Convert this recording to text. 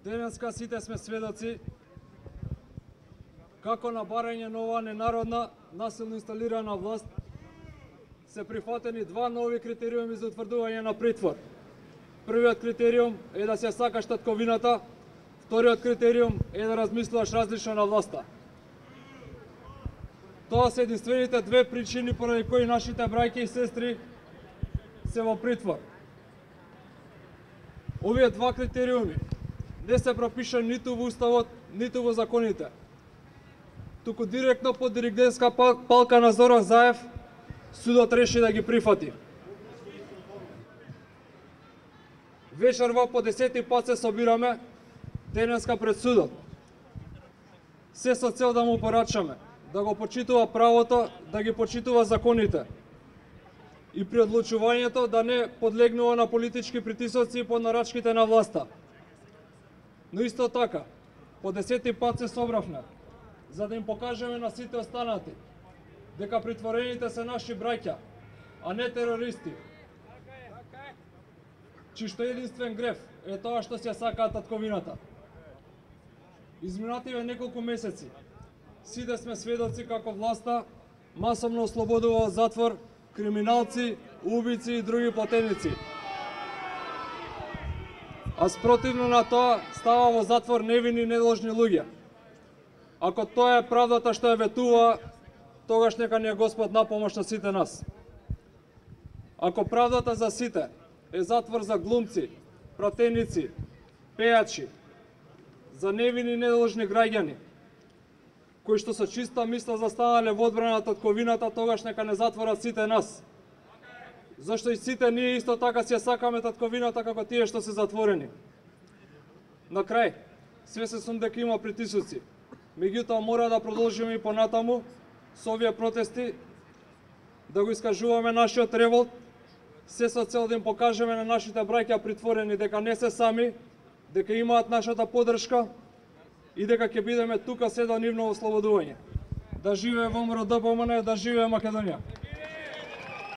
Денеска сите сме сведоци како на барање на оваа ненародна, насилно инсталирана власт се прифатени два нови критериуми за утврдување на притвор. Првиот критериум е да се сакаш татковината, вториот критериум е да размислуваш различно на власта. Тоа се единствените две причини поради кои нашите браќа и сестри се во притвор. Овие два критериуми не се пропишани ниту во уставот, ниту во законите. Туку директно под диригентска палка на Зоран Заев, судот реши да ги прифати. Вечерва по 10 пат се собираме денеска пред судот. Се со цел да му порачаме, да го почитува правото, да ги почитува законите. И при одлучувањето да не подлегнува на политички притисоци и под нарачките на власта. Но исто така, по 10 пат се собравме, за да им покажеме на сите останати дека притворените се наши браќа, а не терористи. Чишто единствен греф е тоа што се сакаат татковината. Изминативе неколку месеци, сите сме сведоци како власта масовно ослободува од затвор криминалци, убици и други платеници. А спротивно на тоа става во затвор невини недолжни луѓе. Ако тоа е правдата што ја ветува, тогаш нека ни е Господ на помош на сите нас. Ако правдата за сите е затвор за глумци, пратеници, пејачи, за невини недолжни граѓани, кои што со чиста мисла застанале во одбрана на татковината, тогаш нека не затворат сите нас. Зашто и сите ние исто така си ја сакаме татковината како тие што се затворени. На крај, свесен сум дека има притисоци, меѓутоа мора да продолжиме и понатаму со овие протести, да го искажуваме нашиот револт, се со цел да им покажеме на нашите браќа притворени дека не се сами, дека имаат нашата поддршка и дека ќе бидеме тука се до нивно ослободување. Да живее ВМРО ДПМН, да живее Македонија!